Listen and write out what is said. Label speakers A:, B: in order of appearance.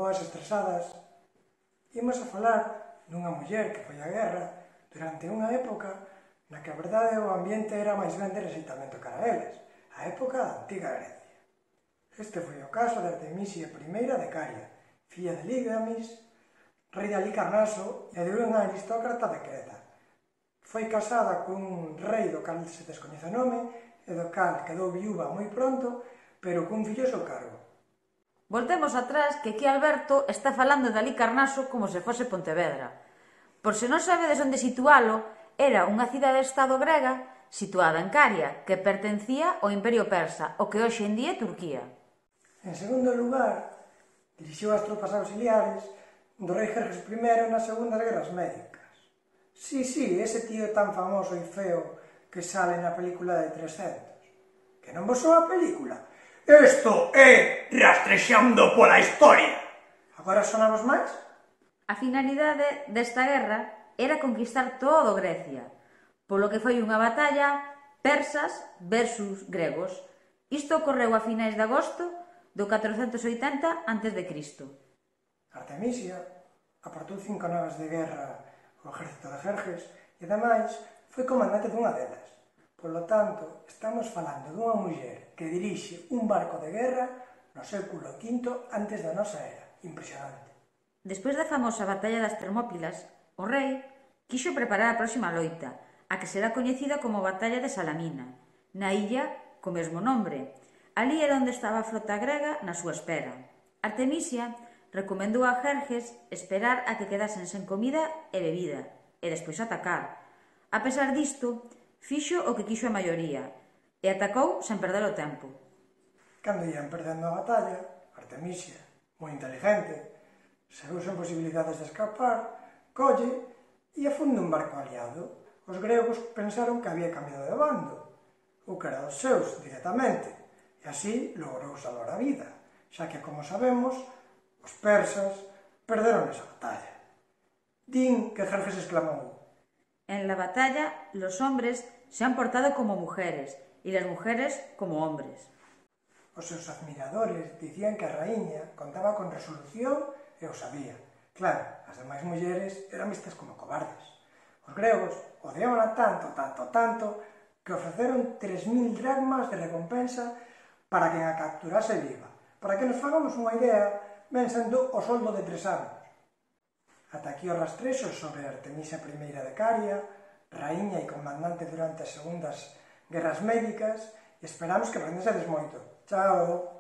A: boas estresadas. Imos a falar dunha muller que foi á guerra durante unha época na que a verdade o ambiente era máis ben de rexeitamento cara a eles, a época da antiga Grecia. Este foi o caso de Artemisia I de Caria, filla de Lígamis, rei de Halicarnaso e de unha aristócrata de Creta. Foi casada cun rei do cal se descoñece o nome e do cal quedou viúva moi pronto, pero cun fillo ao seu cargo.
B: Voltemos atrás que aquí Alberto está falando de Halicarnaso como se fose Pontevedra. Por se non sabedes onde situalo, era unha cidade-estado grega situada en Caria, que pertencía ao Imperio Persa, o que hoxe en día é Turquía.
A: En segundo lugar, dirixiu as tropas auxiliares do rei Jerjes I nas segundas guerras médicas. Sí, ese tío tan famoso e feo que sale na película de 300. Que non vos soa a película? Isto é Rastrexando pola Historia. Agora sonamos máis?
B: A finalidade desta guerra era conquistar todo Grecia, polo que foi unha batalla persas versus gregos. Isto ocorreu a finais de agosto do 480 a.C.
A: Artemisia aportou 5 navas de guerra ao exército de Jerjes e, ademais, foi comandante dunha delas. Polo tanto, estamos falando dunha muller que dirixe un barco de guerra no século V antes da nosa era. Impresionante.
B: Despois da famosa batalla das Termópilas, o rei quixo preparar a próxima loita, a que será coñecida como Batalla de Salamina, na illa co mesmo nombre. Ali era onde estaba a flota grega na súa espera. Artemisia recomendou a Jerjes esperar a que quedasen sen comida e bebida, e despois atacar. A pesar disto, fixo o que quixo a maioría, e atacou sen perder o tempo.
A: Cando ian perdendo a batalla, Artemisia, moi inteligente, se viu sen posibilidades de escapar, colle e afunde un barco aliado. Os gregos pensaron que había cambiado de bando, ou que era dos seus directamente, e así logrou salvar a vida, xa que, como sabemos, os persas perderon esa batalla. Din que Jerjes exclamou:
B: En la batalla, los hombres se han portado como mujeres y las mujeres como hombres.
A: Os seus admiradores dicían que a raíña contaba con resolución e o sabía. Claro, as demais mulleres eran vistas como cobardes. Os gregos odiaban tanto, que ofreceron 3.000 dracmas de recompensa para quen a capturase viva. Para que nos fagamos unha idea, ven sendo o soldo de 3 anos. Ata aquí os rastrexos sobre Artemisia I de Caria, raíña e comandante durante as segundas guerras médicas, e esperamos que aprendesedes moito. Chao!